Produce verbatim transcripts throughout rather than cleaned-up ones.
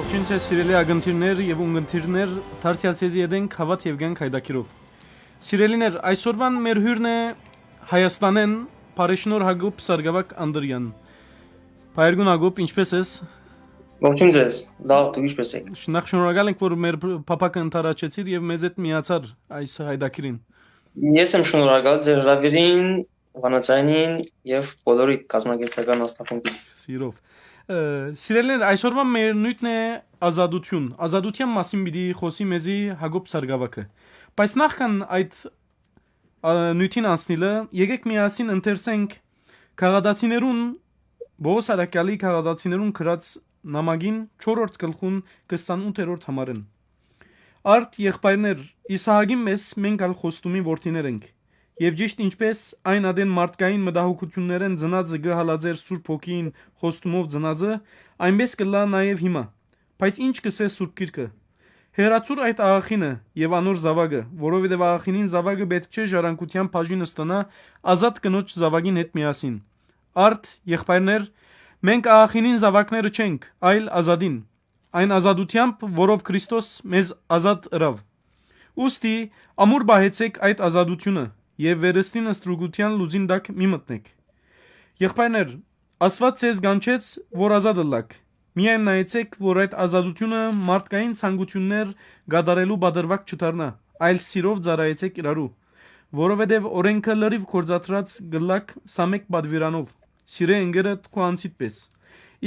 Ողջույն ձեզ, սիրելի ակնթիրներ եւ ունկնդիրներ, դարձեալ ձեզի հետ ենք Հաւատ եւ Կեանք յայտագիրով։ Սիրելիներ, այսօրուան մեր հիւրն է Հայաստանէն Փարեշնոր Հակոբ Սարգսակ Անդրեան։ Պայերգուն Հակոբ, ինչպե՞ս ես։ Ողջույն ձեզ, լավ, դուք ինչպե՞ս եք։ Շնորհ-, շնորհակալ ենք, որ մեր փ-, փափաքը ընդառաջեցիր եւ մեզ հետ միացար այս յայտագիրին։ Ես եմ շնորհակալ ձեր հրավերին, Վանաձայնին եւ բոլորի կազմակերպչական հաստատմունքին։ Սիրով։ Ը, սիրելիներ, այսօրվա մեր նիւթն է ազատություն։ Ազատության մասին պիտի խօսի մեզի Հակոբ Սարգսակը։ Բայց նախքան այդ, ա, նիւթին անցնիլը, եկեք միասին ընթերցենք քաղաքացիներուն, Պողոս Արաքեալի քաղաքացիներուն գրած նամակին չորրորդ գլխուն քսանութերորդ համարին։ Արդ, եղբայրներ, Իսահակին մէս մենք ալ խոստումի որդիներ ենք։ Եւ ճիշդ ինչպէս այն ատեն մարդկային մտահոգութիւններէն ծնածը կը հալածէր Սուրբ Հոգին խոստումով ծնածը, այնպէս կ'ըլլայ նաեւ հիմա։ Բայց ինչ կ'ըսէ Սուրբ Գիրքը։ Հեռացուր այդ աղախինը եւ անոր զաւակը, որովհետեւ աղախինին զաւակը պէտք չէ ժառանգութեան բաժին ստանայ ազատ կնոջ զաւակին հետ միասին։ Արդ, եղբայրներ, մենք աղախինին զաւակները չենք, այլ ազատին, այն ազատութեամբ, որով Քրիստոս մեզ ազատ ըրաւ։ Ուստի, ամուր պահեցէք այդ ազատությունը եւ վերստին ստրուկութեան լուծին տակ մի մտնէք։ Եղբայրներ, Աստուած ձեզ կանչեց, որ ազատ ըլլաք։ Միայն նայեցէք, որ այդ ազատությունը մարդկային ցանկութիւններ կատարելու պատրուակ չդառնայ, այլ սիրով ծառայեցէք իրարու, որովհետեւ օրէնքը լրիւ գործադրած կ'ըլլաք սա մէկ պատուիրանով. սիրէ ընկերդ քու անձիդ պէս։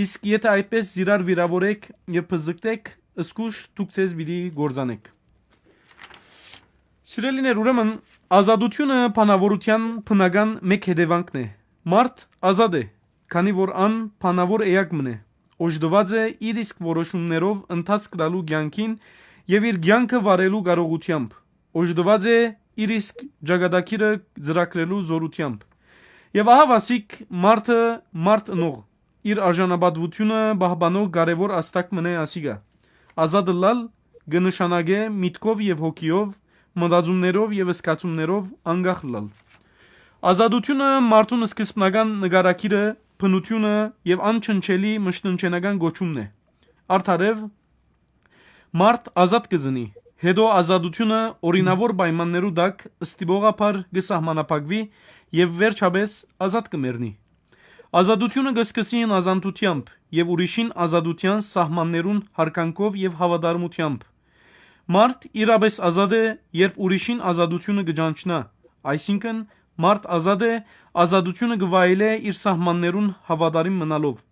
Իսկ եթէ այդպէս զիրար վիրաւորէք եւ բզկտէք, զգուշ դուք ձեզ պիտի կործանէք։ Սիրելիներ, ուրեմն, ազատությունը բանաւորութեան բնական մէկ հետեւանքն է։ Մարդ ազատ է, քանի որ ան բանաւոր էակ մըն է, օժտուած է իր իսկ որոշումներով ընթացք տալու կեանքին եւ իր կեանքը վարելու կարողութեամբ, օժտուած է իր իսկ ճակատագիրը ծրագրելու զօրութեամբ։ Եւ ահա վասիկ մարդը մարդ ընող, իր արժանապատուությունը պահպանող կարեւոր ազդակ մըն է ասիկա։ Ազատ ըլլալ կը նշանակէ միտքով եւ հոգիով, մտածումներով եւ զգացումներով անկախ ըլլալ։ Ազատությունը մարդուն սկզբնական նկարագիրը, բնությունը եւ անչնչելի մշտնջենական կոչումն է։ Արդարեւ, մարդ ազատ կը ծնի, հետո ազատությունը օրինաւոր պայմաններու տակ ստիպողաբար կը սահմանափակուի եւ վերջապէս ազատ կը մեռնի։ Ազատությունը կը սկսի հնազանդութեամբ եւ ուրիշին ազատութեան սահմաններուն յարգանքով եւ հաւատարմութեամբ։ Մարդ իրապէս ազատ է, երբ ուրիշին ազատությունը կը ճանչնայ, այսինքն՝ մարդ ազատ է, ազատությունը կը վայելէ իր սահմաններուն հաւատարիմ մնալով։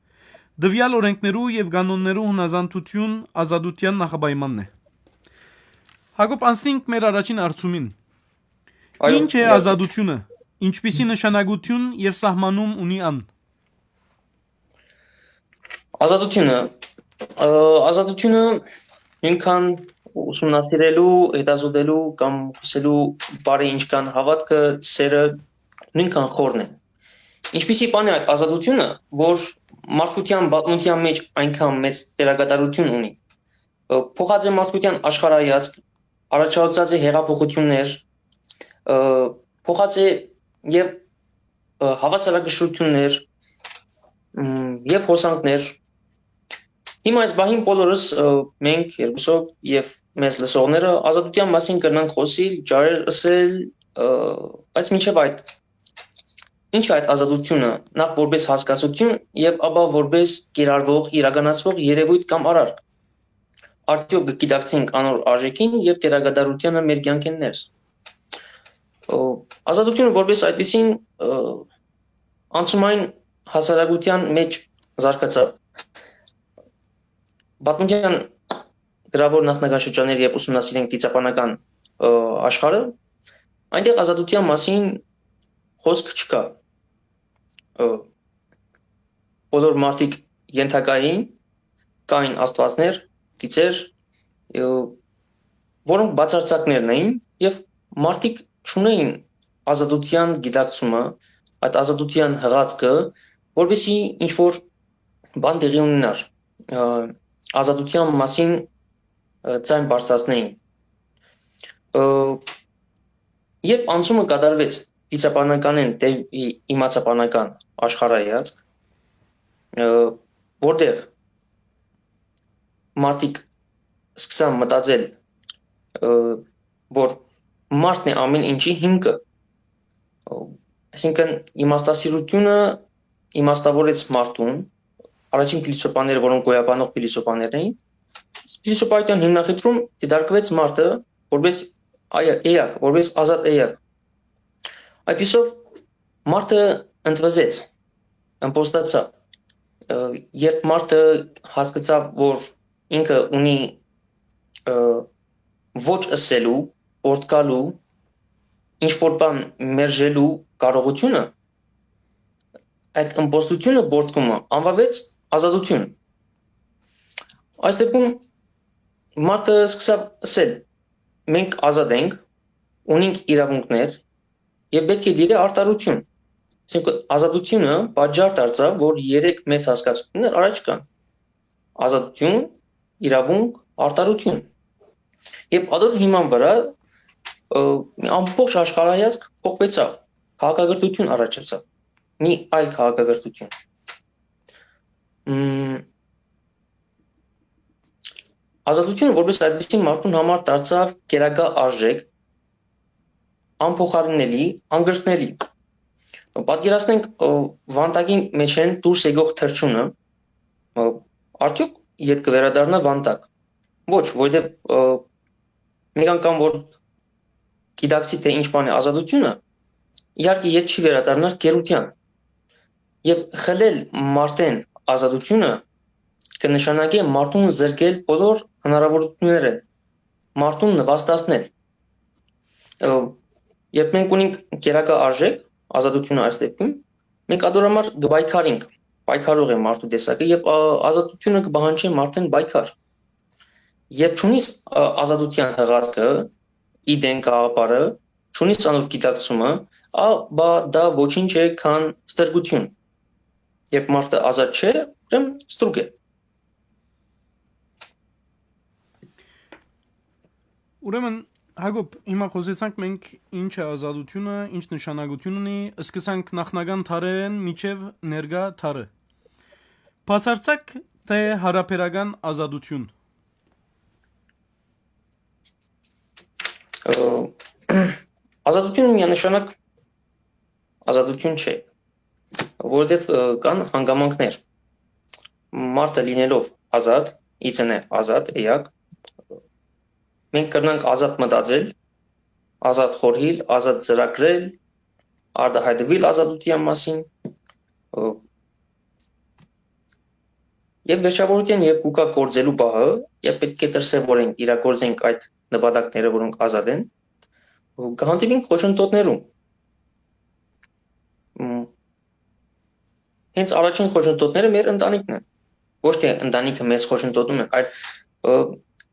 Տուեալ օրէնքներու եւ կանոններու հնազանդութիւն ազատութեան նախապայմանն է։ Հակոբ, անցնենք մեր առաջին հարցումին։ Այո, Ինչ է իհարկե։ Ազատությունը, ինչպիսի նշանակութիւն եւ սահմանում ունի ան։ Ազատությունը, ը, ազատությունը նոյնքան ուսումնասիրելու, հետազոտելու կամ խօսելու բարի ինչքան հաւատքը, սերը նոյնքան խորն է։ Ինչպիսի բան է այդ ազատությունը, որ մարդկության պատմության մէջ այնքան մեծ դերակատարութիւն ունի։ Ը, փոխած է մարդկության աշխարհայացք, առաջացած է հեղափոխություններ, ը, փոխած է եւ, ը, հավասարակշռություններ, մ, եւ հոսանքներ։ Հիմա այս պահին բոլորս, ը, մենք երկուսով եւ մեզ լսողները ազատության մասին կրնանք խօսիլ, ճարեր ըսել, ը, բայց մինչեւ այդ, ինչ է այդ ազատությունը, նախ որպես հասկացություն եւ ապա որպես կիրառվող, իրականացվող երևույթ կամ արար։ Արդյոք կը գիտակցենք անոր արժեքին եւ դերակատարությանը մեր կեանքէն ներս։ Ը, ազատությունը որպես այդպիսին, ը, անցումային հասարակության մէջ զարգացաւ։ Պատմության գրաւոր նախնական շրջաններ եւ ուսումնասիրենք դիցաբանական, ը, աշխարհը, այնտեղ ազատության մասին խօսք չկայ։ Ը, բոլոր մարդիկ ենթակային, կային աստուածներ, գիծեր, ը, որոնք բացարձակներն էին եւ մարդիկ չունեին ազատության գիտակցումը, այդ ազատության հղացքը, որպեսզի ինչ-որ բան տեղի ունենար, ը, ազատության մասին, ը, ձայն բարձրացնեին։ Ը, երբ անցումը կատարվեց դիցաբանականէն դեպի իմացաբանական աշխարհայացք, ը, որտեղ մարդիկ սկսան մտածել, ը, որ մարդն է ամեն ինչի հիմքը։ Ը, այսինքն իմաստասիրությունը իմաստավորեց մարդուն, առաջին փիլիսոփաները, որոնք գոյաբանող փիլիսոփաներ էին, փիլիսոփայության հիմնախնդրում դիտարկվեց մարդը որպես այ-, էակ, որպես ազատ էակ։ Այդպիսով մարդը ընդվզեց, ըմբոստացաւ։ Ը, երբ մարդը հասկացաւ, որ ինքը ունի, ը, ոչ ըսելու, պորտկալու, ինչ որ բան մերժելու կարողությունը, այդ ըմբոստությունը, պորտկումը անվաւեց ազատություն։ Այս դեպքում մարդը սկսաւ ըսել. «Մենք ազատ ենք, ունենք իրաւունքներ եւ պէտք է տիրէ արդարություն»։ Այսինքն ազատությունը պատճառ դարձաւ, որ երեք մեծ հասկացություններ առաջ կան. ազատություն, իրաւունք, արդարություն։ Եւ ատոր հիման վրայ, ը, ամբողջ աշխարհայազգ փոխուեցաւ, քաղաքակրթություն առաջացաւ, մի այլ քաղաքակրթություն։ Մ, ազատությունը որպես այդպիսի մարդուն համար դարձաւ գերակա արժեք, անփոխարինելի, անկրկնելի։ Պատկերացնենք, ը, Վանտակի մէջ են դուրս եկող թռչունը, ը, արդյոք ետ կը վերադառնա Վանտակ։ Ոչ, որովհետեւ, ը, մեկ անգամ որ գիտակցի, թե ինչ բան է ազատությունը, իհարկե ետ չի վերադառնար գերության։ Եւ խլել մարդեն ազատությունը կը նշանակէ մարդուն զրկել բոլոր հնարաւորութիւններէն, մարդուն նուաստացնել։ Ը, երբ մենք ունենք գերակա արժեք, ազատությունը այս դեպքում, մենք ատոր համար կը պայքարենք, պայքարող է մարդու տեսակը, եւ, ա, ազատությունը կը պահանջէ մարդեն պայքար։ Երբ չունիս, ա, ազատության հղացքը, ի դեն գաղափարը, չունիս անոր գիտակցումը, ապա դա ոչինչ է, քան ստրկություն։ Երբ մարդը ազատ չէ, ուրեմն ստրուկ է։ Ուրեմն, Հակոբ, հիմա խօսեցանք մենք ինչ է ազատությունը, ինչ նշանակություն ունի, սկսանք նախնական դարերէն մինչեւ ներկայ դարը։ Բացարձակ թէ հարաբերական ազատություն։ Ը, ազատությունը միանշանակ ազատություն չէ, որովհետեւ, ը, կան հանգամանքներ։ Մարդը լինելով ազատ, ի ծնե ազատ, էակ, մենք կրնանք ազատ մտածել, ազատ խորհիլ, ազատ ծրագրել, արտահայտուիլ ազատության մասին, ը, եւ վերջավորության, երբ կուկա գործելու պահը, երբ պէտք է դրսեւորենք, իրագործենք այդ նպատակները, որոնք ազատ են, կհանդիպենք խոչընդոտներու։ Մ, հենց առաջին խոչընդոտները մեր ընտանիքն են։ Ոչ թե ընտանիքը մեզ խոչընդոտում է, այլ, ը,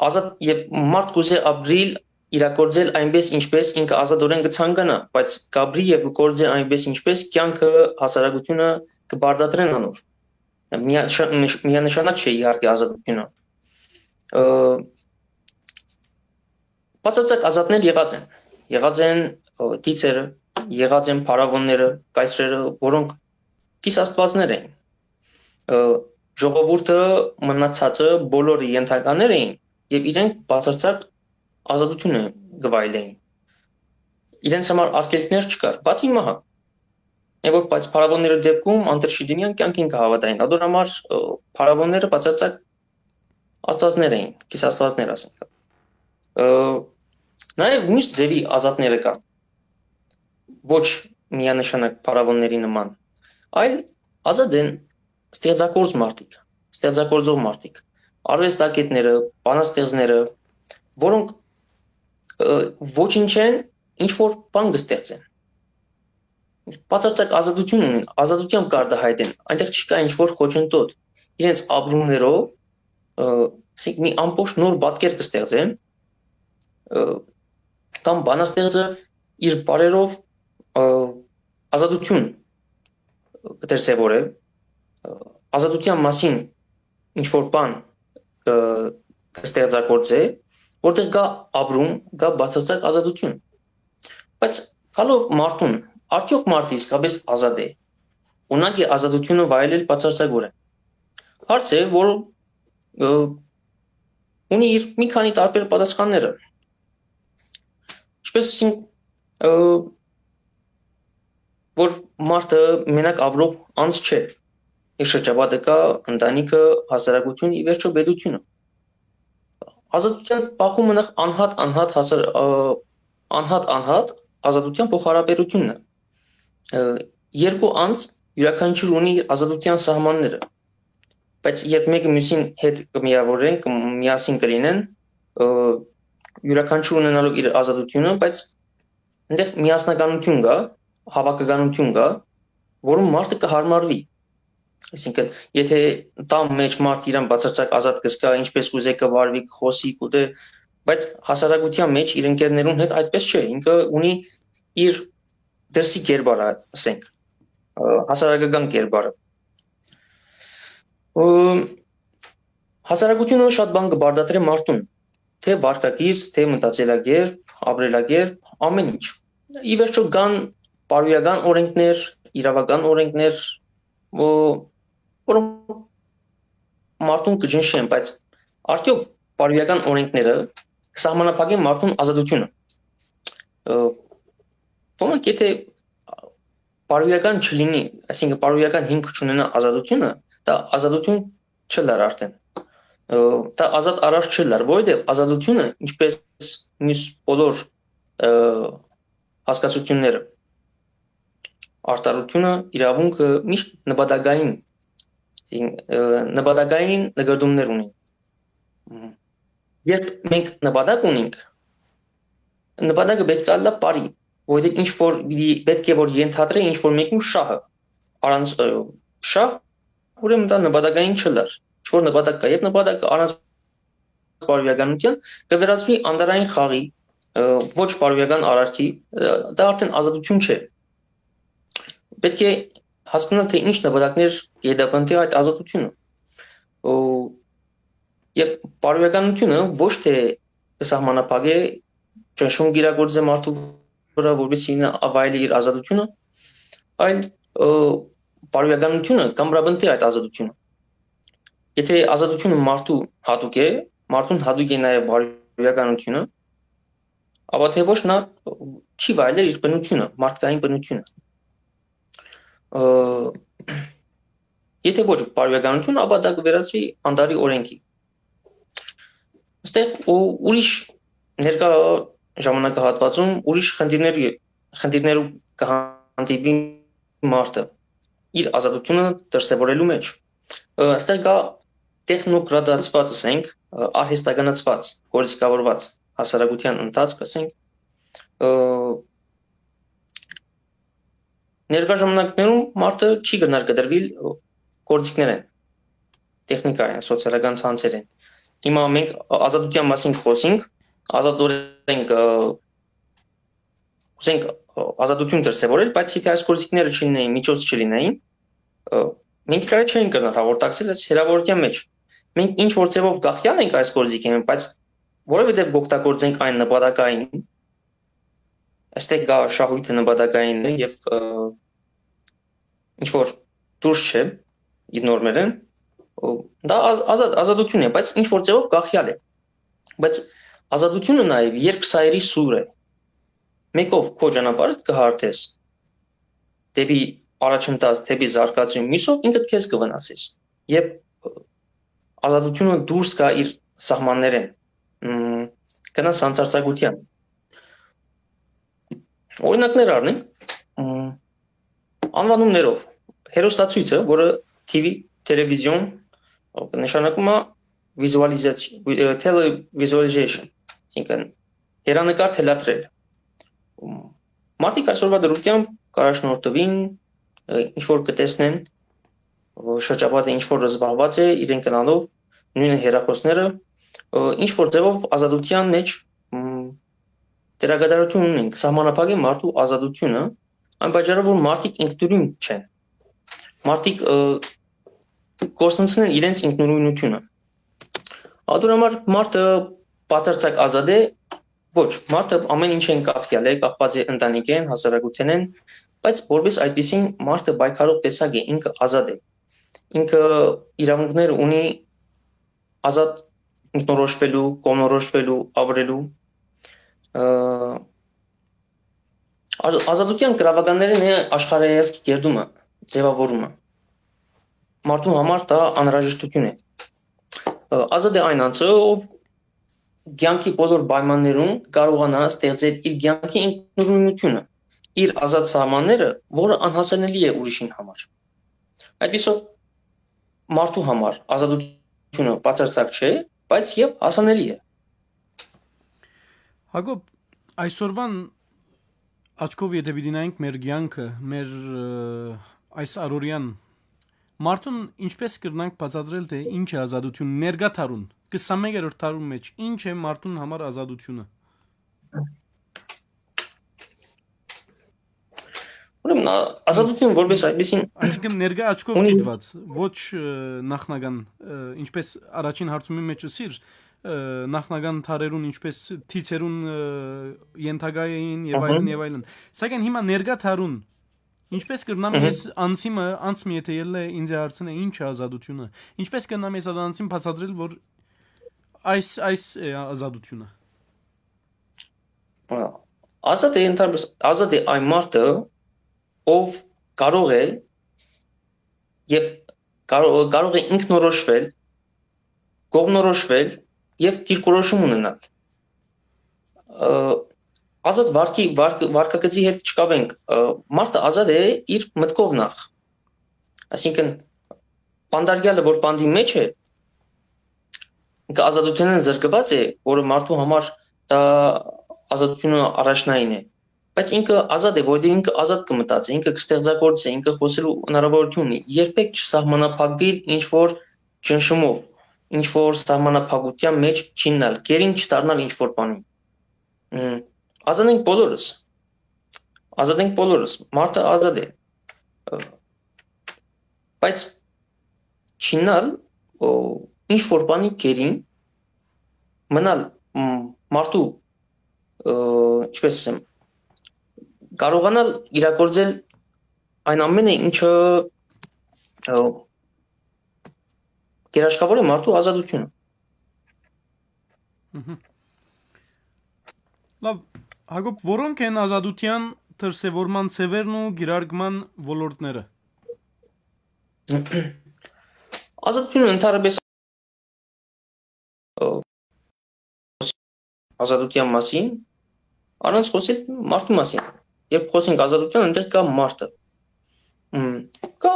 ազատ, երբ մարդ կուզէ ապրիլ, իրագործել այնպես, ինչպես ինքը ազատօրեն կը ցանկանայ, բայց կապրի եւ կը գործէ այնպես, ինչպես կեանքը, հասարակությունը կը պարտադրեն անոր։ Միա-, շ-, միշ-, միանշանակ չէ իհարկե ազատությունը։ Ը, բացարձակ ազատներ եղած են։ Եղած են, ը, դիցերը, եղած են փարավոնները, կայսրերը, որոնք կիսաստուածներ էին։ Ը, ժողովուրդը մնացածը բոլորը ենթականներ էին եւ իրենք բացարձակ ազատությունը կը վայելեին։ Իրենց համար արգելքներ չկար, բացի մահը։ Այն որ, բայց փարավոնները դեպքում անդրշիտինյան կյանքին կը հաւատային։ Ատոր համար, ը, փարավոնները բացարձակ աստվածներ էին, կիսաստվածներ ասենք։ Ը, նաեւ միշտ ձեւի ազատները կան, ոչ միանշանակ փարավոնների նման, այլ ազատ են ստեղծագործ մարդիկ, ստեղծագործող մարդիկ, արուեստագետները, բանաստեղծները, որոնք, ը, ոչինչ են, ինչ որ բան կը ստեղծեն։ Բացարձակ ազատություն ունին, ազատությամբ կարտահայտեն, այնտեղ չկա ինչ որ խոչընդոտ, իրենց ապրումներով, ը, ասենք, մի ամբողջ նոր պատկեր կը ստեղծեն, ը, կամ բանաստեղծը իր բարերով, ը, ազատություն կը դրսեւորէ, ը, ազատության մասին ինչ որ բան կը, կը ստեղծագործէ, որտեղ կա ապրում, կա բացարձակ ազատություն։ Բայց գալով մարդուն, արդյոք մարդը իսկապես ազատ է։ Ունակ է ազատությունը վայելել բացարձակորեն։ Հարց է, որ, ը, ունի իր մի քանի տարբեր պատասխանները։ Ինչպես ասենք, ը, որ մարդը մենակ ապրող անձ չէ, իր շրջապատը կայ, ընտանիքը, հասարակությունը, ի վերջոյ պետությունը։ Ազատութեան բախումը նախ անհատ, անհատ հասար-, ը, անհատ, անհատ ազատութեան փոխհարաբերութիւնն է։ Ը, երկու անձ իւրաքանչիւր ունի իր ազատութեան սահմանները, բայց երբ մէկը միւսին հետ կը միաւորեն, կը միասին կը լինեն, ը, իւրաքանչիւր ունենալով իր ազատութիւնը, բայց այնտեղ միասնականութիւն կայ, հաւաքականութիւն կայ, որուն մարդը կը հարմարուի։ Այսինքն, եթե տան մէջ մարդ իրեն բացարձակ ազատ կը զգայ, ինչպես կ'ուզէ կը վարուի, կը խօսի, կ'ուտէ, բայց հասարակութեան մէջ իր ընկերներուն հետ այդպես չէ։ Ինքը ունի իր դրսի կերպարը, ասենք, ը, հասարակական կերպարը։ Ը, հասարակությունը շատ բան կը պարտադրէ մարդուն, թէ վարքագիծ, թէ մտածելակերպ, ապրելակերպ, ամէն ինչ։ Ի վերջոյ կան բարոյական օրենքներ, իրաւական օրենքներ, ո-, որոնք մարդուն կը ճնշեն, բայց արդեօք բարոյական օրենքները կը սահմանափակեն մարդուն ազատութիւնը։ Ը, ոմանք եթե բարոյական չլինի, այսինքն բարոյական հիմք չունենայ ազատութիւնը, դա ազատութիւն չըլլար արդեն։ Ը, դա ազատ արարք չըլլար, որովհետեւ ազատութիւնը, ինչպես միւս բոլոր, ը, հասկացութիւնները, արդարութիւնը, իրաւունքը միշտ նպատակային, ը, նպատակային նկատումներ ունի։ Երբ մենք նպատակ ունենք, նպատակը պէտք է ըլլայ բարի, որովհետեւ ինչ որ պիտի, պէտք է որ ենթադրէ ինչ որ մեկուն շահը, առանց, ը, շահ, ուրեմն դա նպատակային չըլլար։ Ինչ որ նպատակ կայ, երբ նպատակը առանց բարոյականութեան կը վերածուի անտարային խաղի, ը, ոչ բարոյական արարքի, ը, դա արդեն ազատութիւն չէ։ Պէտք է հասկանալ, թէ ինչ նպատակներ կը հետապնդի այդ ազատութիւնը։ Ո-, եւ բարոյականութիւնը ոչ թէ կը սահմանափակէ ճնշում կիրագործէ մարդու վրայ, որպեսզի ինքը վայելի իր ազատութիւնը, այլ, ը, բարոյականութիւնը կ'ամրապնդի այդ ազատութիւնը։ Եթե ազատութիւնը մարդու յատուկ է, մարդուն յատուկ է նաեւ բարոյականութիւնը, ապա թէ ոչ, նա չի վայելեր իր բնութիւնը, մարդկային բնութիւնը։ Ը, եթե ոչ բարոյականութիւն, ապա դա կը վերածուի անտարի օրենքի։ Այստեղ ու ուրիշ ներկայ ժամանակահատվածում ուրիշ խնդիրներ, խնդիրներու կը հանդիպի մարդը իր ազատութիւնը դրսեւորելու մէջ։ Ը, այստեղ կայ տեխնոկրատացուած, ասենք, ը, արհեստականացուած, գործիքավորուած հասարակութեան ընթացք, ասենք, ը, ներկայ ժամանակներում մարդը չի կրնար կտրուիլ, ը, գործիքներէն, տեխնիկայէն, սոցիալական ցանցերէն։ Հիմա մենք ազատութեան մասին կխօսենք, ազատօրէն կը, կ'ուզենք, ը, ազատութիւն դրսեւորել, բայց եթե այս գործիքները չլինեին, միջոց չլինեին, ը, մենք իրար չենք կրնար հաղորդակցել այս հեռաւորության մէջ։ Մենք ինչ որ ձեւով կախեալ ենք այս գործիքէն, բայց որովհետեւ կօգտագործենք այն նպատակային, այստեղ կայ շահույթը նպատակային է եւ, ը, ինչ որ դուրս չէ իր նորմերէն, ը, դա ազատ, ազատութիւն է, բայց ինչ որ ձեւով կախեալ է։ Բայց ազատութիւնը նաեւ երկսայրի սուր է։ Մեկով քո ճանապարհդ կը հարթես դեպի առաջընթաց, դեպի զարգացում, մյուսով ինքդ քեզ կը վնասես։ Երբ, ը, ազատութիւնը դուրս գայ իր սահմաններէն, մ, գնաս սանձարձակութեան։ Օրինակներ առնենք, մ, անուանումներով, հեռուստացոյցը, որը T V, տելևիզիոն, ը, նշանակում է վիզուալիզացիա, վի-, ը, televisualization, այսինքն՝ հեռանկար թելադրել։ Մ, մարդիկ այսօրվա դրությամբ կ'առաջնորդուին, ը, ինչ որ կը տեսնեն, ը, շրջապատը ինչ որ զբաղված է, իրենք գնալով, նոյնը հեռախօսները, ը, ինչ որ ձևով ազատութեան մէջ, մ, դերակատարութիւն ունին, կը սահմանափակեն մարդու ազատութիւնը, այն պատճառով, որ մարդիկ ինքնուրույն չեն։ Մարդիկ, ը, կորսնցնեն իրենց ինքնուրույնութիւնը։ Ատոր համար մարդը բացարձակ ազատ է, ոչ, մարդը ամեն ինչէն կախեալ է, կախված է ընտանիքէն, հասարակութենէն, բայց որպես այդպիսին մարդը պայքարող տեսակ է, ինքը ազատ է։ Ինքը իրավունքներ ունի ազատ ինքնորոշվելու, կողմնորոշվելու, ապրելու։ Ը, ազատության գրաւականներէն է աշխարհայացքի կերտումը, ձեւաւորումը։ Մարդուն համար դա անհրաժեշտություն է։ Ը, ազատ է այն անձը, ով կեանքի բոլոր պայմաններուն կարողանայ ստեղծել իր կեանքի ինքնուրույնութիւնը, իր ազատ սահմանները, որը անհասանելի է ուրիշին համար։ Այդպիսով մարդու համար ազատությունը բացարձակ չէ, բայց եւ հասանելի է։ Հակոբ, այսօրվան աչքով եթէ պիտի նայենք մեր կեանքը, մեր, ը, այս առօրեան, մարդուն ինչպե՞ս կրնանք բացատրել, թէ ինչ է ազատություն ներկայ դարուն, քսանմեկերորդ դարուն մէջ, ինչ է մարդուն համար ազատությունը։ Ուրեմն, ա-, ազատություն որպես այդպիսին Այսինքն ներկայ աչքով ունի դիտված, ոչ, ը, նախնական, ը, ինչպես առաջին հարցումի մեջ ըսիր, ը, նախնական դարերուն ինչպես թիցերուն, ը, ենթակայ էին եւ Ահա։ այլն, եւ այլն։ Սակայն հիմա ներկայ դարուն ինչպես կրնամ Ահա։ ես անցիմը, անց մի եթէ ելլե ինձ է հարցնե, ինչ է ազատությունը, ինչպես կրնամ ես այդ անցին բացատրել, որ այս, այս է ազատությունը։ Ա, ազատ է ընդհանրապես, ազատ է այն մարդը, ով կարող է եւ կարո-, կարող է ինքնորոշվել, կողմնորոշվել եւ դիրքորոշում ունենալ։ Ը, ազատ վարքի, վարք-, վարքագծի հետ չկապենք, ը, մարդը ազատ է իր մտքով նախ։ Այսինքն, պանդարյալը, որ պանդի մեջ է, ինքը ազատութենէն զրկուած է, որը մարդու համար դա ազատությունը առաջնային է։ Բայց ինքը ազատ է, որովհետեւ ինքը ազատ կը մտածի, ինքը կը ստեղծագործի, ինքը խոսելու հնարավորություն ունի։ Երբեք չսահմանափակուիր ինչ-որ ճնշումով, ինչ-որ սահմանափակության մեջ չիյնալ, գերին չդառնալ ինչ-որ բանի։ Մ, ազատ ենք բոլորս։ Ազատ ենք բոլորս։ Մարդը ազատ է։ Ը, բայց չիյնալ, ո, ինչ-որ բանի գերին, մնալ, մ, մարդու, ը, ինչպես ասեմ, կարողանալ իրագործել այն ամենը, ինչը, ը, գերաշխավոր է մարդու ազատությունը։ Մհմ։ Լավ, Հակոբ, որո՞նք են ազատության դրսեւորման ձեւերն ու կիրարկման ոլորտները։ Ազատությունը ընդհանրապես, ը, ազատության մասին, առանց խոսել մարդու մասին։ Երբ խոսենք ազատության, այնտեղ կա մարդը։ Մ, կա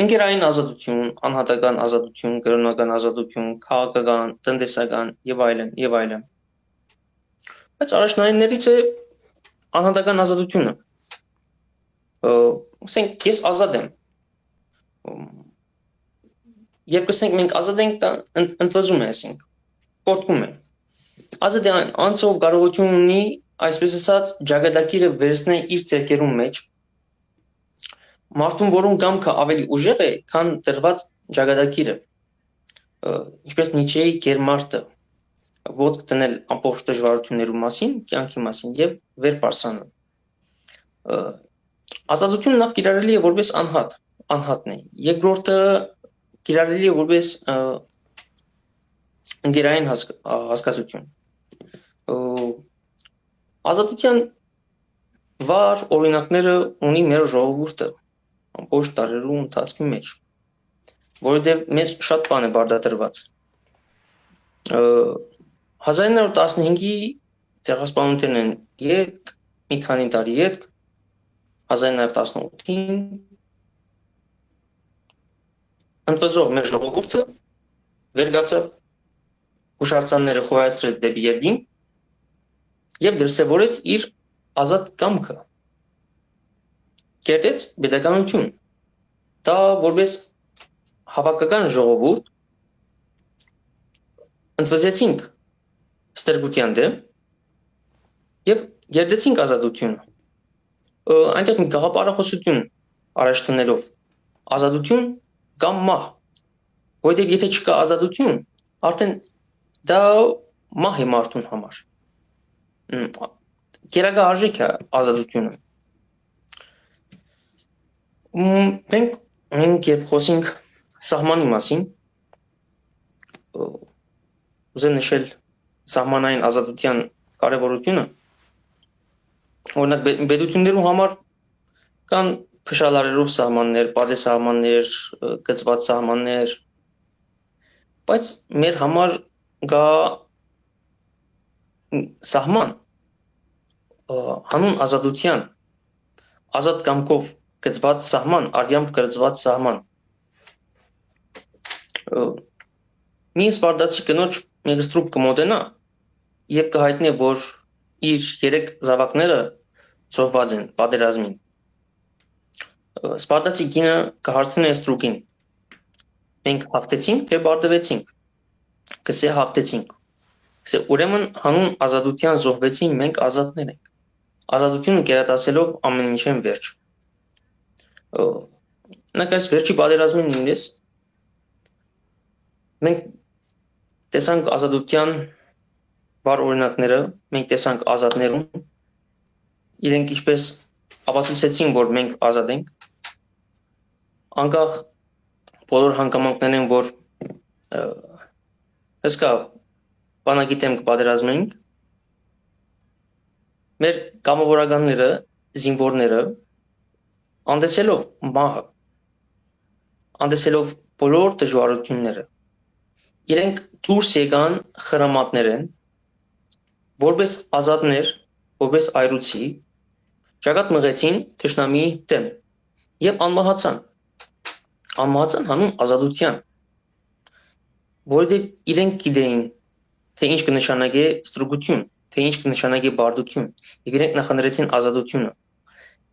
ընկերային ազատություն, անհատական ազատություն, կրօնական ազատություն, քաղաքական, տնտեսական եւ այլն, եւ այլն։ Բայց առաջնայիններից է անհատական ազատությունը։ Ը, ասենք, ես ազատ եմ։ Մ, երբ կսենք, մենք ազատ ենք, դա ընդ-, ընդվզում է, ասենք, պոռթկում է։ Ազատ է այն անձը, ով կարողություն ունի, այսպես ասած, ճակատագիրը վերցնել իր ձեռքերուն մեջ, մարդուն, որուն կամքը ավելի ուժեղ է, քան տրված ճակատագիրը, ը, ինչպես Նիչեի գերմարտը, ոտք դնել ամբողջ դժվարություններու մասին, կեանքի մասին եւ վեր պարսանը։ Ը, ազատությունը նախ կիրառելի է որպես անհատ, անհատն է։ Երկրորդը կիրառելի է որպես, ը, ընկերային հասկ-, ա, հասկացություն։ Ը, ազատության վառ օրինակները ունի մեր ժողովուրդը ամբողջ դարերու ընթացքի մեջ, որովհետև մեզ շատ բան է պարտադրված։ Ը, հազար ինը հարյուր տասնհինգի ցեղասպանութենէն ետք, մի քանի տարի ետք, հազար ինը հարյուր տասնութին, ընդվզող մեր ժողովուրդը վեր գացավ, հուշարձանները խոյացրեց դեպի երկինք և դրսևորեց իր ազատ կամքը։ Կերտեց պետականություն։ Դա որպես հավաքական ժողովուրդ ընդվզեցինք ստրկության դեմ և կերտեցինք ազատությունը։ Ը, այնտեղ մի գաղափարախոսություն առաջ դնելով, ազատություն կամ մահ, որովհետև եթե չկա ազատություն, արդեն դա մահ է մարդուն համար։ Մ, գերակա արժեք է ազատությունը։ Մ, մենք, մենք երբ խոսենք սահմանի մասին, ը, ուզեմ նշել սահմանային ազատութեան կարեւորութիւնը։ Օրինակ, պե-, պետութիւններու համար կան փշալարերով սահմաններ, պատեսահմաններ, ը, կցուած սահմաններ, բայց մեր համար կայ սահման, ը, հանուն ազատութեան, ազատ կամքով կցուած սահման, արեամբ կցուած սահման։ Ը, մի սպարտացի կնոջ մէկ ստրուկ կը մօտենայ եւ կը յայտնէ, որ իր երեք զաւակները զոհուած են պատերազմին։ Ը, սպարտացի կինը կը հարցնէ ստրուկին. «Մենք հաղթեցինք, թէ պարտուեցինք»։ Կ'ըսէ. «Հաղթեցինք»։ Կ'ըսէ. «Ուրեմն հանուն ազատութեան զոհուեցին, մենք ազատներ ենք»։ Ազատութիւնը կերատասելով ամէն ինչէն վերջ։ Ը, օրինակ, այս վերջի պատերազմին նոյնիսկ մենք տեսանք ազատութեան վառ օրինակները, մենք տեսանք ազատներուն, իրենք ինչպես ապացուցեցին, որ մենք ազատ ենք, անկախ բոլոր հանգամանքներէն, որ, ը, հսկայ բանակի դէմ կը պատերազմենք, մեր կամավորականները, զինուորները, անտեսելով մահը, անտեսելով բոլոր դժուարութիւնները, իրենք դուրս եկան խրամատներէն, որպես ազատներ, որպես այրուցի, ճակատ մղեցին թշնամիի դէմ եւ անմահացան։ Անմահացան հանուն ազատութեան, որովհետեւ իրենք գիտեին, թէ ինչ կը նշանակէ ստրուկութիւն, թէ ինչ կը նշանակէ պարտութիւն, եւ իրենք նախընտրեցին ազատութիւնը։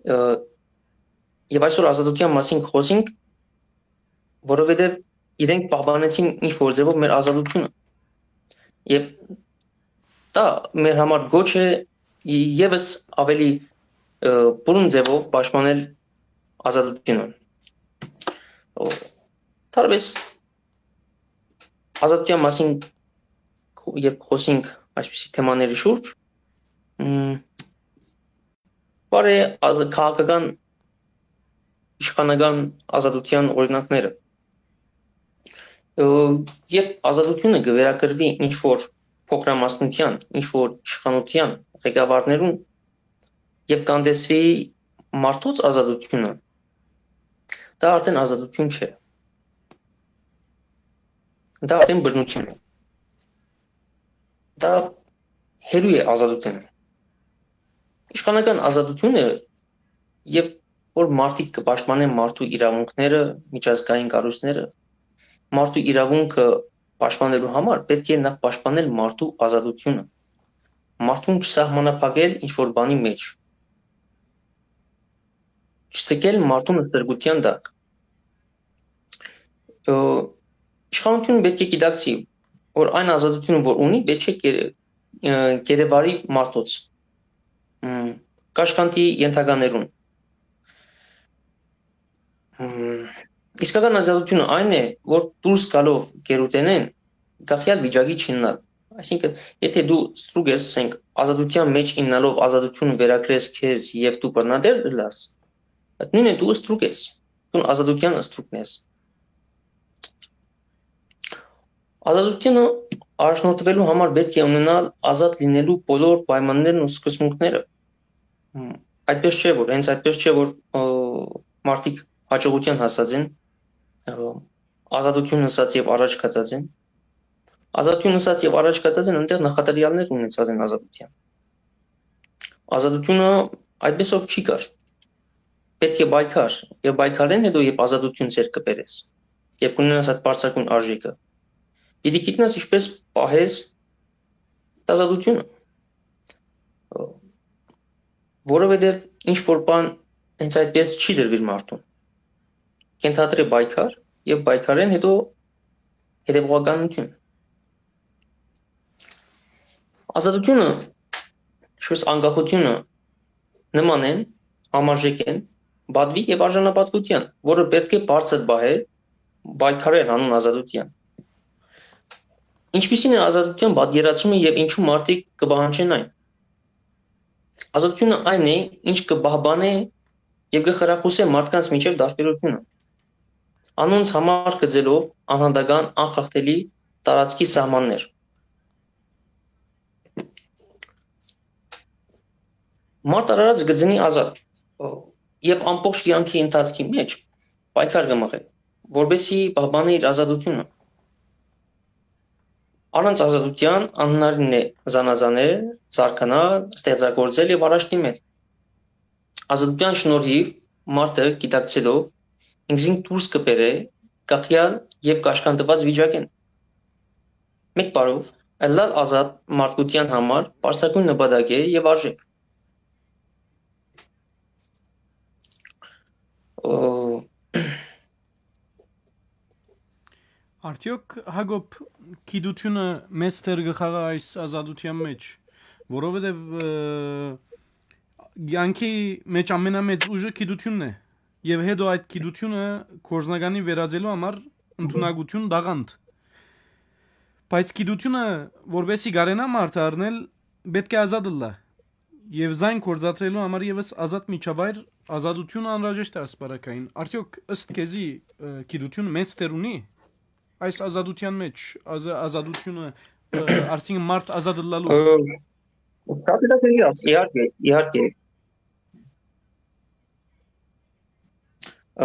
Ը, եւ այսօր ազատութեան մասին կխօսենք, որովհետեւ իրենք պահպանեցին ինչ որ ձեւով մեր ազատութիւնը։ Եւ դա մեր համար գոչ է եւս ավելի, ը, բուռն ձեւով պաշտպանել ազատութիւնը։ Ո-, դարբես ազատութեան մասին քո-, երբ խոսենք այսպիսի թեմաների շուրջ, մ, բարի ազա-, քաղաքական, իշխանական ազատութեան օրինակները։ Ը, երբ ազատութիւնը կը վերագրուի ինչ որ փոքրամասնութեան, ինչ որ իշխանութեան ղեկավարներուն եւ կանդեսվի մարդոց ազատութիւնը, դա արդեն ազատութիւն չէ։ Դա արդեն բռնութիւն է։ Դա հեռու է ազատութենէն։ Իշխանական ազատութիւնը, եւ որ մարդիկ կը պաշտպանեն մարդու իրաւունքները, միջազգային կառոյցները, մարդու իրաւունքը պաշտպանելու համար պէտք է նախ պաշտպանել մարդու ազատութիւնը, մարդուն չսահմանափակել ինչ որ բանի մէջ, չձգել մարդուն ստրկութեան տակ։ Ը, իշխանութիւնը պէտք է գիտակցի, որ այն ազատութիւնը, որ ունի, պէտք է կեր-, ը, կերեվարի մարդոց, մ, կաշկանդի ենթականերուն։ Մ, իսկական ազատութիւնը այն է, որ դուրս գալով գերութենէն կախեալ վիճակի չիյնալ։ Այսինքն, եթե դու ստրուկ ես, ասենք, ազատութեան մէջ իյնալով ազատութիւնը վերագրես քեզ եւ դու բռնատեր ըլլաս, այդ նոյնը դու ստրուկ ես, դուն ազատութեան ստրուկն ես։ Ազատութիւնը առաջնորդուելու համար պէտք է ունենալ ազատ լինելու բոլոր պայմաններն ու սկզբունքները։ Մ, այդպես չէ, որ, հենց այդպես չէ, որ, ը, մարդիկ հաջողութեան հասած են, ը, ազատութիւն ըսած եւ առաջ գացած են։ Ազատութիւն ըսած եւ առաջ գացած են, այնտեղ նախադրեալներ ունեցած են ազատութեան։ Ազատութիւնը այդպեսով չի գար։ Պէտք է պայքար, եւ պայքարէն հետո, երբ ազատութիւն ձեռք կը բերես, երբ կունենաս այդ բարձրագոյն արժէքը, պիտի գիտնաս ինչպես պահես ազատութիւնը, որովհետեւ ինչ որ բան հենց այդպես չի տրուիր մարդուն։ Կ'ընթադրէ պայքար եւ պայքարէն հետո հետեւողականութիւն։ Ազատութիւնը, ինչպես անկախութիւնը, նման են, համարժեք են պատուի եւ արժանապատուութեան, որը պէտք է բարձր պահել, պայքարել հանուն ազատութեան։ Ինչպիսի՞ն է ազատութեան պատկերացումը եւ ինչու մարդիկ կը պահանջեն այն։ Ազատութիւնը այն է, ինչ կը պահպանէ եւ կը խրախուսէ մարդկանց միջեւ տարբերութիւնը, անոնց համար գծելով անհատական, անխախտելի տարածքի սահմաններ, Մարդ արարած կը ծնի ազատ, ը, եւ ամբողջ կեանքի ընթացքի մէջ պայքար կը մղէ, որպեսզի պահպանի իր ազատութիւնը։ Առանց ազատութեան անհնարին է զանազանել, զարգանալ, ստեղծագործել եւ առաջ դիմել։ Ազատութեան շնորհիւ մարդը գիտակցելով ինքզին դուրս կը բերէ կախեալ եւ կաշկանդուած վիճակէն։ Մէկ բառով, ըլլալ ազատ մարդկութեան համար բարձրագոյն նպատակ է եւ արժէք։ Ը, Արդյոք, Հակոբ, գիտութիւնը մեծ դեր կը խաղայ այս ազատութեան մէջ, որովհետեւ, ը, կեանքի մէջ ամենամեծ ուժը գիտութիւնն է, եւ հետո այդ գիտութիւնը գործնականի վերածելու համար ընդունակություն տաղանդ։ Բայց գիտութիւնը, որպեսզի կարենայ մարդը առնել, պէտք է ազատ ըլլայ։ Եւ զայն գործադրելու համար եւս ազատ միջավայր, ազատութիւնը անհրաժեշտ է ասպարակային։ Արդյոք ըստ քեզի, ը, գիտութիւնը մեծ դեր ունի այս ազատութեան մէջ, ազա-, ազատութիւնը, ը, արդյունքը մարդ ազատ ըլլալու։ Ը, շատ հետաքրքիր հարց, իհարկե, իհարկե։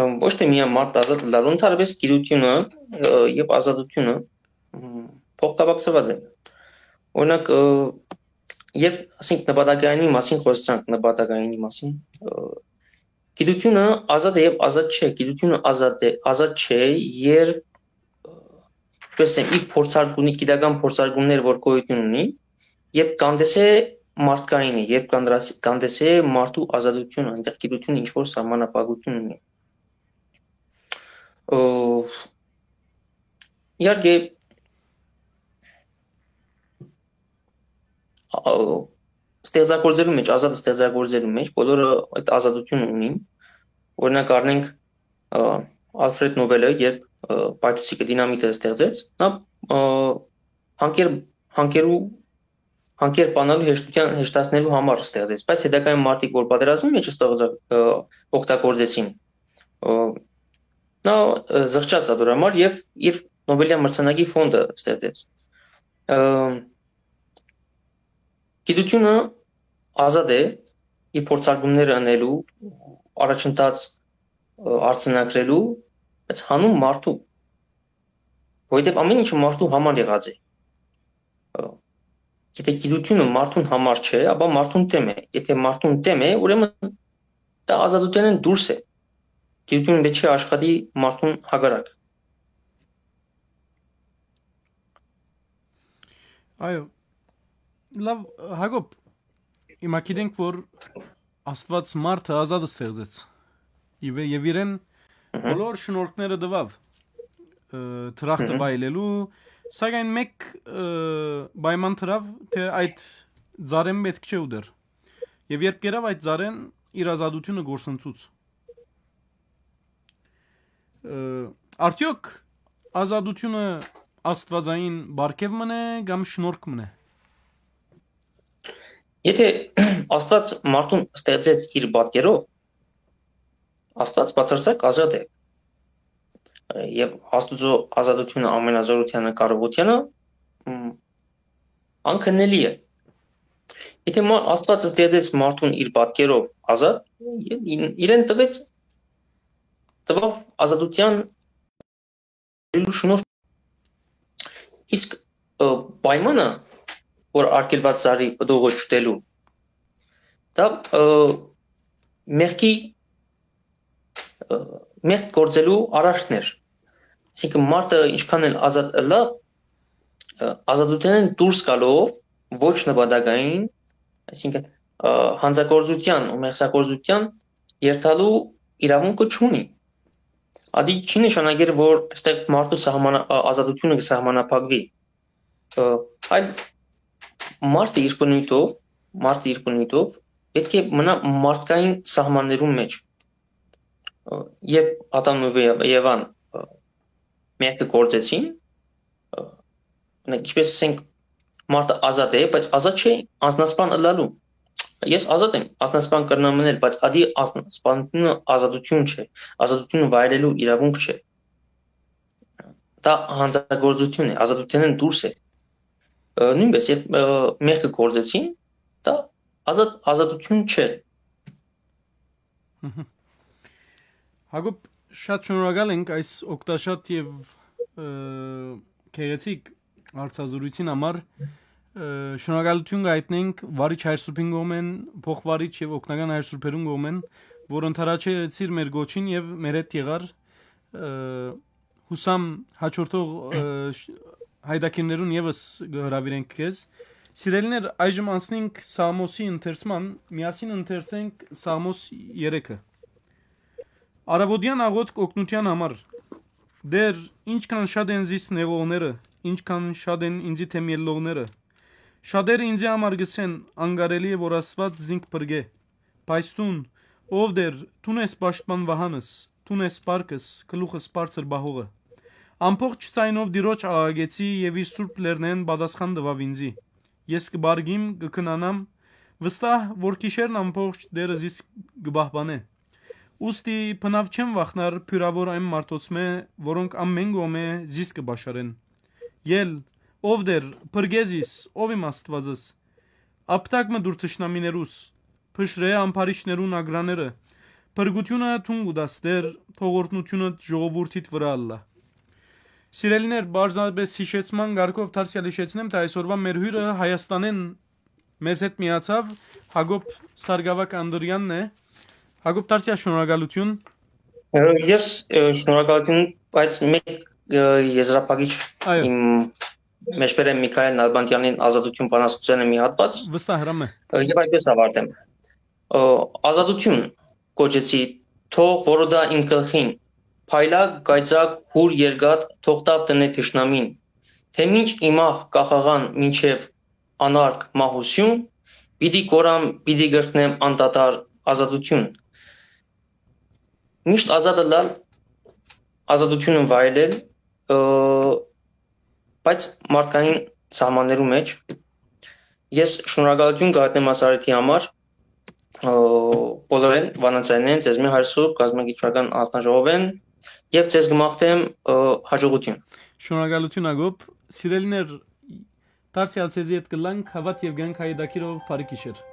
Ըմ, ոչ թե միայն մարդ ազատ ըլլալու, ընդհանրապես գիտութիւնը, ը, եւ ազատութիւնը, ըմ, փոխկապակցուած են։ Օրինակ, ը, երբ, ասենք, նպատակայինի մասին խոսեցանք, նպատակայինի մասին, ը, գիտութիւնը ազատ է եւ ազատ չէ, գիտութիւնը ազատ է, ազատ չէ, երբ, ը, ինչպես եմ, իր փորձարկունի-, գիտական փորձարկումներ, որ գոյութիւն ունի, երբ կանդեսե մարդկայինը, երբ կանդրաս-, կանդեսե մարդու ազատութիւնը, այնտեղ գիտութիւնը ինչ-որ սահմանափակություն ունի։ Ը, իհարկե, ա, ստեղծագործելու մեջ, ազատ ստեղծագործելու մեջ, բոլորը այդ ազատությունը ունին։ Օրինակ, առնենք, ը, Ալֆրեդ Նովելը, երբ, ը, պայթուցիկը, դինամիտը ստեղծեց, նա, ը, հանկեր-, հանկերու, հանկեր բանալու հեշտության, հեշտացնելու համար ստեղծեց, բայց հետագայում մարդիկ, որ պատերազմի մեջ ստեղծա-, ը, օգտագործեցին, ը, նա, ը, զղջաց ադոր համար եւ իր Նովելյան մրցանակի ֆոնդը ստեղծեց։ Ը, գիտությունը ազատ է իր փորձարկումները ընելու, առաջընթաց, ը, արձանագրելու, բայց հանուն մարդու, որովհետեւ ամեն ինչը մարդու համար եղած է։ Ը, եթե գիտությունը մարդուն համար չէ, ապա մարդուն դեմ է։ Եթե մարդուն դեմ է, ուրեմն դա ազատութենէն դուրս է։ Գիտությունը պետք չէ աշխատի մարդուն հակառակ։ Այո, լավ, Հակոբ, հիմա գիտենք, որ Աստուած մարդը ազատ ստեղծեց։ Եվ, եւ իրեն Մհմ, բոլոր շնորհքները տուաւ, ը, դրախտը մհմ, վայելելու, սակայն մեկ, ը, պայման դրաւ, թե այդ ծառեն պէտք չէ ուտեր։ Եւ երբ կերաւ այդ ծառեն, իր ազատութիւնը կորսնցուց։ Ը, արդյոք ազատութիւնը աստուածային պարգեւ մըն է կամ շնորհք մըն է։ Եթե Աստուած մարդուն ստեղծեց իր պատկերով, Աստուած բացարձակ ազատ է։ Եւ Աստուծոյ ազատութիւնը, ամենազօրութեանը, կարողութեանը, մ, անքննելի է։ Եթե մա-, Աստուած ստեղծեց մարդուն իր պատկերով ազատ, ին-, իրեն տվեց, տվավ ազատութեան շնորհ։ Իսկ, ը, պայմանը, որ արգելված ծառի պտուղը չուտելու, դա, ը, մեղքի, ը, մեղք գործելու արարքն էր։ Այսինքն մարդը ինչքան էլ ազատ ըլլայ, ը, ազատութենէն դուրս գալով ոչ նպատակային, այսինքն, ը, հանցագործութեան ու մեղսագործութեան երթալու իրավունքը չունի։ Ադի չի նշանակեր, որ այստեղ մարդու սահմանա-, ա-, ազատությունը կը սահմանափակուի։ Ը, այլ մարդը իր բնույթով, մարդը իր բնույթով պէտք է մնայ մարդկային սահմաններուն մէջ։ Ը, երբ Ադամն ու Եվ-, Եվան, ը, մեղքը գործեցին, ը, օրինակ, ինչպես ասենք, մարդը ազատ է, բայց ազատ չէ անձնասպան ըլլալու։ Ես ազատ եմ անձնասպան կրնամ մնել, բայց ադի անձնասպանությունը ազատություն չէ, ազատությունը վայելելու իրավունք չէ։ Դա հանցագործություն է, ազատութենէն դուրս է։ Ը, նոյնպես, երբ, ը, մեղքը գործեցին, դա Ազատ, ազատություն չէ։ Հակոբ, շատ շնորհակալ ենք այս օգտաշատ եւ, ը, գեղեցիկ հարցազրույցին համար։ Ը, շնորհակալություն կայտնենք Վարիչ Հայր Սուրբին կողմէն, փոխվարիչ եւ օգնական Հայր Սուրբերուն կողմէն, որ ընդառաջեցիր մեր գոչին եւ մեր հետ եղար։ Ը, հուսամ հաջորդող, ը, շ-, հայդակիրներուն եւս կը հրավիրենք քեզ։ Սիրելիներ, այժմ անցնենք Սաղմոսի ընթերցման, միասին ընթերցենք Սաղմոս երեքը։ Առավոտեան աղօթք օգնութեան համար։ Տէր, ինչքան շատ են զիս նեղողները, ինչքան շատ են ինծի դէմ ելլողները։ Շատեր ինծի համար կ'ըսեն, անկարելի է որ Աստուած զինք փրկէ։ Բայց դուն, ով Տէր, դուն ես պաշտպան վահանս, դուն ես պարկս, գլուխս բարձր պահողը։ Ամբողջ ձայնով Տիրոջ աղաղեցի եւ իր սուրբ լեռնէն պատասխան տուաւ ինծի։ Ես կը պառկիմ, կը քնանամ, վստահ որ գիշերն ամբողջ Տէրը զիս կը պահպանէ։ Ուստի բնաւ չեմ վախնար բիւրաւոր այն մարդոցմէ, որոնք ամէն կողմէ զիս կը պաշարեն։ Ել, ով Տէր, փրկէ զիս, ով իմ Աստուածս։ Աբտակ մը տուր թշնամիներուս, փշրէ ամբարիշներուն ագրաները։ Փրկութիւնը դուն կու տաս Տէր, թող օրհնութիւնը ժողովուրդիդ վրայ ըլլայ։ Սիրելիներ, պարզապէս յիշեցման կարգով դարձեալ յիշեցնեմ, թէ այսօրուան մեր հիւրը Հայաստանէն մեզ հետ միացաւ, Հակոբ Սարգսակ Անդրեանն է։ Հակոբ, դարձեալ շնորհակալություն։ Ը, ես, ը, շնորհակալություն, բայց մեկ, ը, եզրափակիչ Այո։ իմ մեջբերեմ Միքայել Նալբանդյանին Ազատություն բանաստեղծութեանը մի հատուած, Վստահ հրամ է։ ը, եւ այդպես ավարտեմ։ Ը, ազատություն կոչեցի, թող որոտա իմ գլխին, փայլակ, կայծակ, հուր երկաթ, թող տաւ տնէ թշնամին, թե մինչ իմախ կախաղան մինչեւ անարգ մահություն, պիտի կորամ, պիտի կրկնեմ անդադար ազատություն։ Միշտ ազատ ըլլալ, ազատությունը վայելել, ը, բայց մարդկային սահմաններու մեջ։ Ես շնորհակալություն կհատնեմ այս առիթի համար, ը, բոլորեն, վանաձայներեն, ձեզմէ Հայր Սուրբ, կազմակերպչական հանձնաժողովէն, եւ ձեզ կմաղթեմ, ը, հաջողություն։ Շնորհակալություն, Հակոբ։ Սիրելիներ, դարձեալ ձեզի հետ կ'ըլլանք, հաւատ եւ կյանք հայդակիրով, բարի գիշեր։